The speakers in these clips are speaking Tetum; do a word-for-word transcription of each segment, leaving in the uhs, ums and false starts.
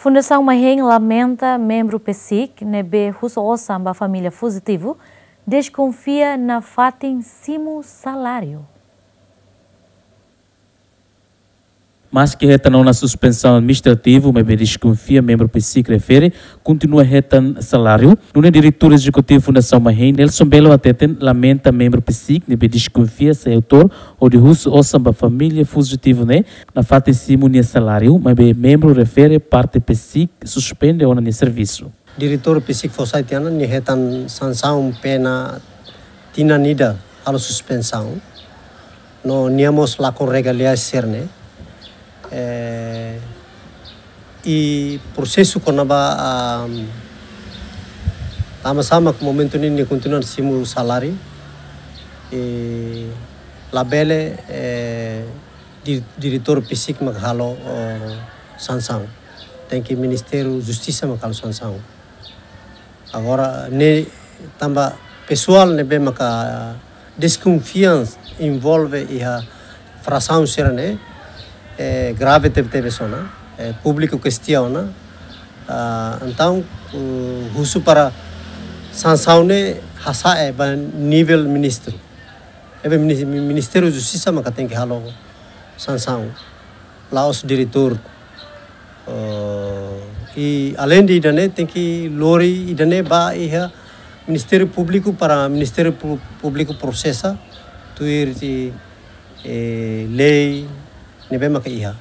Fundasaun Mahein lamenta membru PCIC ne'ebé husu osan ba família fuzitivu, deskonfia nafatin simu saláriu. Maski hetan ona suspensaun administrativu, maibé deskonfia membru PCIC refere kontinua hetan saláriu. Nune'e diretór ezekutivu Fundasaun Mahein, Nelson Belo, hateten lamenta membru PCIC ne'ebé deskonfia sai autór hodi husu osan ba família fuzitivu ne'e nafatin simu nia saláriu, maibé membru refere parte PCIC suspende ona nia servisu. Diretór PCIC fó sai tiha ona, nia hetan sansaun pena tinan ida halo suspensaun. No nia mós lakon regalias sira-ne'e. Eh, i prosesu kona-ba, ah, tama sama ke momentu ne'e nia kontinua simu saláriu. I labele, eh, di-, diretór PCIC mak halo, oh, sansaun. Tenke Ministériu Justisa mak halo sansaun. Agora, ne'e tanba pesoál ne'ebé maka deskonfiansa envolve iha frasaun sira-ne'e, eh, grave tebetebes ona, eh, públiku kestiona, ah, entaun, uh, husu para sansaun ne'e hasa'e ba nivel ministru. Ne'ebé minis-, Ministériu Justisa maka tenke halo sansaun. La'ós diretór. Eh, i aleinde ida-ne'e tenke lori ida-ne'e ba iha Ministériu Públiku para Ministériu Pú-, Públiku prosesa tuir, eh, lei ne'ebé maka iha.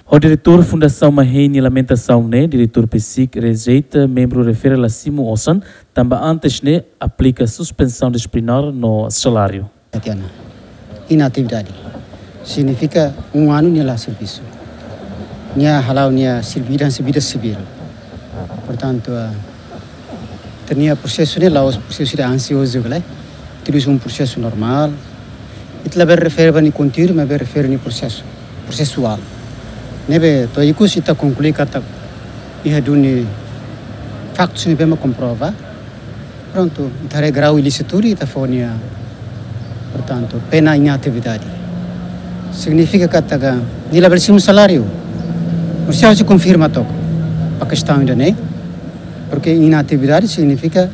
Ho diretór Fundasaun Mahein nia lamentasaun ne'e, diretór PCIC rejeita membru refere la simu osan, tanba antes ne'e aplika suspensaun disiplinár no saláriu. Tatiana. Inatividade. Signifika um ano nia la servisu. Nia hala'o nia servi-, vida sivíl. Portantu, ah, ita-nia prosesu ne'e la'ós prosesu ida ansiozu, kale. Tudu iha um prosesu normál. Ita labele refere ba nia konteúdu, maibé refere nia prosesu, prosesuál. Ne'ebé to'o ikus ita konklui katak iha duni faktus ne'ebé mak komprova. Prontu, ita haree grau ilísitu, ita fó nia, portantu, pena inatividade. Signifika katak nia labele simu saláriu. Mós ha'u sei konfirma took ba kestaun ida-ne'e. Porque inatividade signifika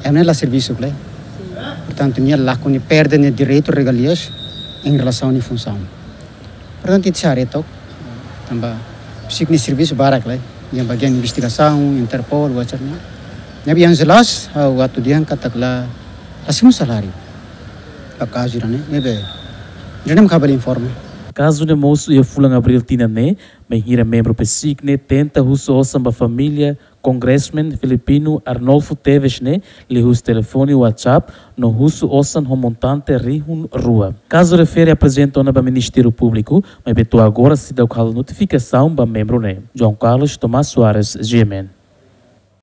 ema ne'e la servisu, kale. Portantu, nia lakon, nia perde nia direitu, regalias em relação à nia funsaun. Portantu, ita sei haree took, tanba PCIC nia servisu barak, kale, iha bagian investigasaun, Interpol, whatever ne'e. Ne'ebé yang jelas, ah, waktu dia angkat katak la, la simu saláriu. Ba kazu ida-ne'e, ne'ebé, ida-ne'e mak ha'u bele informa. Kazu ne'e mosu iha fulan Abríl tinan ne'e, bainhira membru PCIC ne'e tenta husu osan ba família Congressman Filipino Arnolfo Teves ne'e liuhusi telefone, WhatsApp, no husu osan ho montante rihun rua. Kazu refere aprezenta ona ba Ministériu Públiku, maibé to'o agora seidauk halo notifikasaun ba membru ne'e. João Carlos Tomás Soares, G M N.